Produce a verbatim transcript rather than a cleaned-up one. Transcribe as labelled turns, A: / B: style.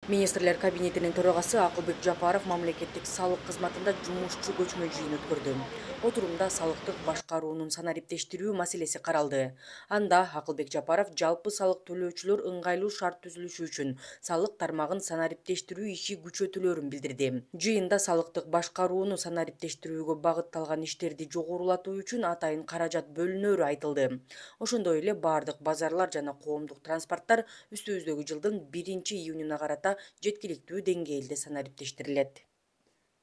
A: Министрлер кабинетинин төрагасы Акылбек Жапаров мамлекеттик салык кызматында жумушчу көчмө жыйын өткөрдү. Отурумда салыктык башкаруунун санариптештирүү маселеси каралды. Анда Акылбек Жапаров жалпы салык төлөөчүлөр ыңгайлуу шарт түзүлүшү үчүн салык тармагын санариптештирүү иши күчөтүлөрүн билдирди. Жыйында салыктык башкарууну санариптештирүүгө багытталган иштерди жогорулатуу үчүн атайын каражат бөлүнөрү айтылды. Ошондой эле бардык базарлар жана коомдук транспорттор үстүбүздөгү жылдын биринчи июнуна карата жеткиликтүү деңгээлде санариптештирилет.